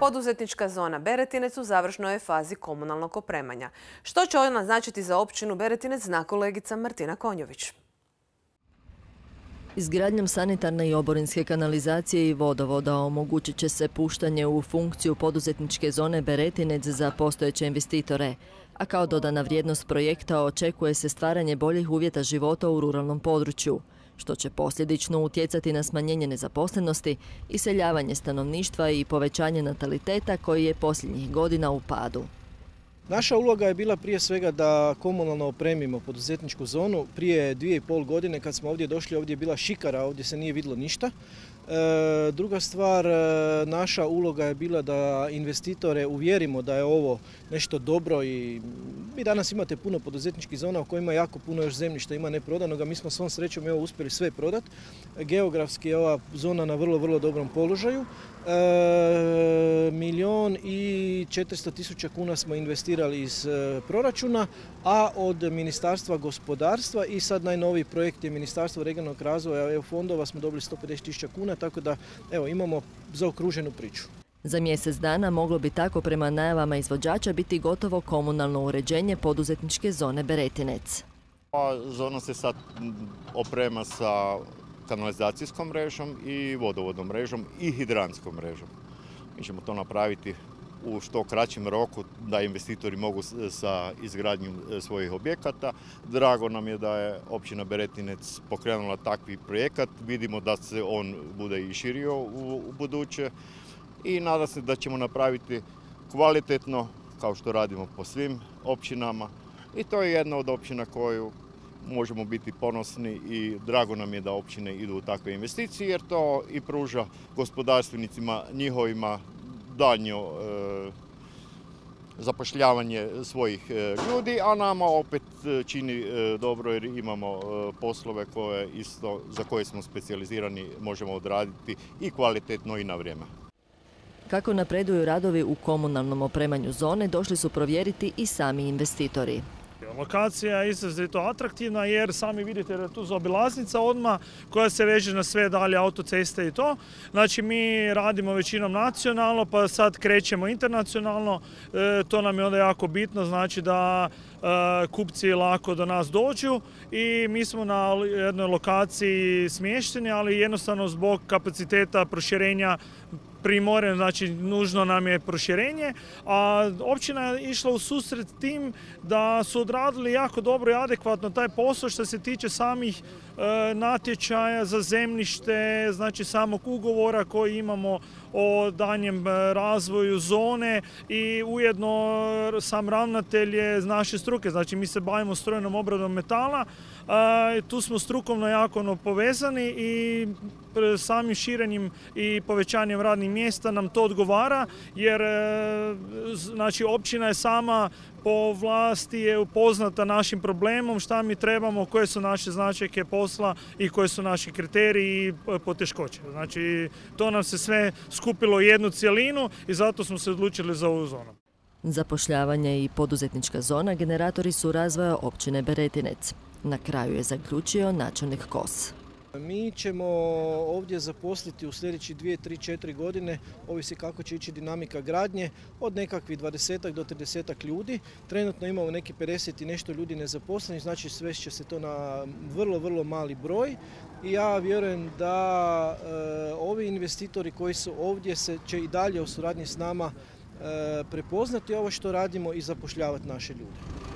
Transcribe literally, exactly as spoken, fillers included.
Poduzetnička zona Beretinec u završnoj je fazi komunalnog opremanja. Što će ona značiti za općinu Beretinec, zna kolegica Martina Konjović. Izgradnjom sanitarne i oborinske kanalizacije i vodovoda omogućit će se puštanje u funkciju poduzetničke zone Beretinec za postojeće investitore, a kao dodana vrijednost projekta očekuje se stvaranje boljih uvjeta života u ruralnom području, što će posljedično utjecati na smanjenje nezaposlenosti, iseljavanje stanovništva i povećanje nataliteta koji je posljednjih godina u padu. Naša uloga je bila prije svega da komunalno opremimo poduzetničku zonu. Prije dvije i pol godine kad smo ovdje došli, ovdje je bila šikara, ovdje se nije vidjelo ništa. E, druga stvar, naša uloga je bila da investitore uvjerimo da je ovo nešto dobro i vi danas imate puno poduzetničkih zona u kojima jako puno još zemljišta ima neprodanoga. Mi smo svom srećom evo uspjeli sve prodati. Geografski je ova zona na vrlo, vrlo dobrom položaju. E, milijon i četiristo tisuća kuna smo investirali iz e, proračuna, a od Ministarstva gospodarstva i sad najnoviji projekt je Ministarstvo regionalnog razvoja E U fondova smo dobili sto pedeset tisuća kuna, tako da evo imamo zaokruženu priču. Za mjesec dana moglo bi tako prema najavama izvođača biti gotovo komunalno uređenje poduzetničke zone Beretinec. Zona se sad oprema sa kanalizacijskom mrežom i vodovodnom mrežom i hidrantskom mrežom. Mi ćemo to napraviti u što kraćem roku da investitori mogu sa izgradnjom svojih objekata. Drago nam je da je općina Beretinec pokrenula takvi projekat. Vidimo da se on bude i širio u buduće i nadam se da ćemo napraviti kvalitetno kao što radimo po svim općinama. I to je jedna od općina koju možemo biti ponosni i drago nam je da općine idu u takve investicije jer to i pruža gospodarstvenicima njihovima daljnje e, zapošljavanje svojih e, ljudi, a nama opet čini e, dobro jer imamo e, poslove koje isto, za koje smo specijalizirani, možemo odraditi i kvalitetno i na vrijeme. Kako napreduju radovi u komunalnom opremanju zone, došli su provjeriti i sami investitori. Lokacija je izrazito atraktivna jer sami vidite da je tu zaobilaznica odmah koja se veže na sve dalje autoceste i to. Znači mi radimo većinom nacionalno pa sad krećemo internacionalno. E, to nam je onda jako bitno, znači da e, kupci lako do nas dođu i mi smo na jednoj lokaciji smješteni, ali jednostavno zbog kapaciteta proširenja primoren, znači nužno nam je proširenje, a općina je išla u susret tim da su odradili jako dobro i adekvatno taj posao što se tiče samih e, natječaja za zemljište, znači samog ugovora koji imamo o danjem razvoju zone i ujedno sam ravnatelj je iz naše struke, znači mi se bavimo strojnom obradom metala, e, tu smo strukovno jako povezani i samim širenjem i povećanjem radnih mjesta nam to odgovara jer znači općina je sama po vlasti je upoznata našim problemom, šta mi trebamo, koje su naše značajke posla i koji su naši kriteriji i poteškoće. Znači to nam se sve skupilo u jednu cjelinu i zato smo se odlučili za ovu zonu. Zapošljavanje i poduzetnička zona generatori su razvoja općine Beretinec. Na kraju je zaključio načelnik Kos. Mi ćemo ovdje zaposliti u sljedeći dvije, tri, četiri godine, ovisi kako će ići dinamika gradnje, od nekakvih dvadesetak do tridesetak ljudi. Trenutno imamo neki pedeset i nešto ljudi nezaposlenih, znači svest će se to na vrlo, vrlo mali broj. I ja vjerujem da e, ovi investitori koji su ovdje se, će i dalje u suradnji s nama e, prepoznati ovo što radimo i zapošljavati naše ljude.